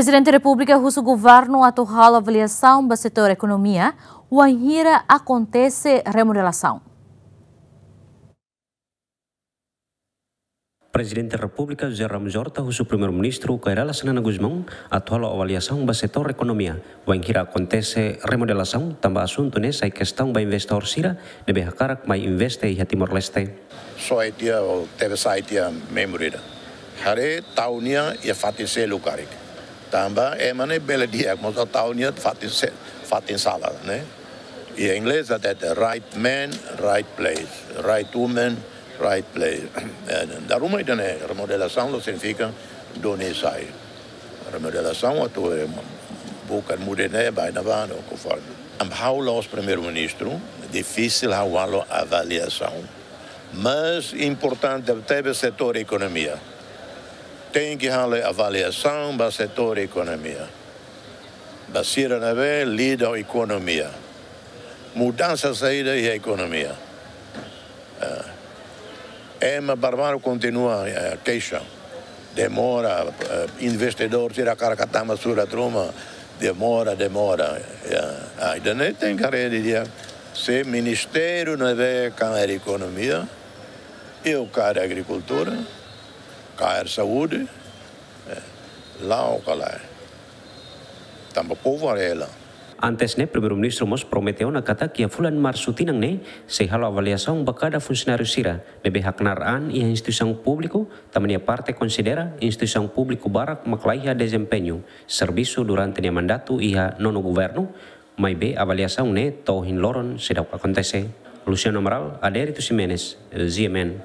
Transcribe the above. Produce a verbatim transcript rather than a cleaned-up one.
Prezidente Repúblika husu governu atu halo avaliasaun ba setór ekonomia wainhira akontese remodelasaun. Prezidente Repúblika José Ramos Horta husu Primeiru-Ministru Kay Rala Xanana Gusmão atu halo avaliasaun ba setór ekonomia wainhira akontese remodelasaun, tanba asuntu ne'e sai kestaun ba investidór sira ne'ebé hakarak mai investe iha Timor-Leste. Só iha tiha, ou tebe sai tiha memory ida. Haree tau nia iha fatin seluk karik. Tanba ema ne'e bele di'ak, mas tau nia fatin se-, fatin sala, ne'e? Iha inglés hatete right man, right place, right woman, right place. Eh, dala ruma ida-ne'e, remodelasaun la signifika duni sai. Remodelasaun atu, eh, buka muda ne'e, bainhira, no konforme. Ha'u la'ós Primeiru-Ministru, difisil ha'u halo avaliasaun. Mas importante tebe setór ekonomia. Tenke halo avaliasaun ba setór ekonomia. Ba sira ne'ebé lida ho ekonomia. Mudansa saida iha ekonomia. Eh, ema barak kontinua, eh, keixa. Demora, eh, investidór sira hakarak tama surat ruma. Demora, demora. Ya. Ah, ida-ne'e tenke haree didi'ak. Se ministériu ne'ebé kaer ekonomia, iha kaer agrikultura, kaer saúde, eh, la'o ka lae. Tanba povu haree hela. Antes ne'e, Primeiru-Ministru mós promete ona katak iha fulan Marsu tinan ne'e sei halo avaliasaun ba kada funsionáriu sira ne'ebé haknaar an iha instituisaun públiku, tanba nia parte konsidera instituisaun públiku barak mak laiha dezempeñu servisu durante nia mandatu iha nonu governu, maibé avaliasaun ne'e to'o ohin loron seidauk akontese. Luciano Amaral, Adérito Ximenes, G M N.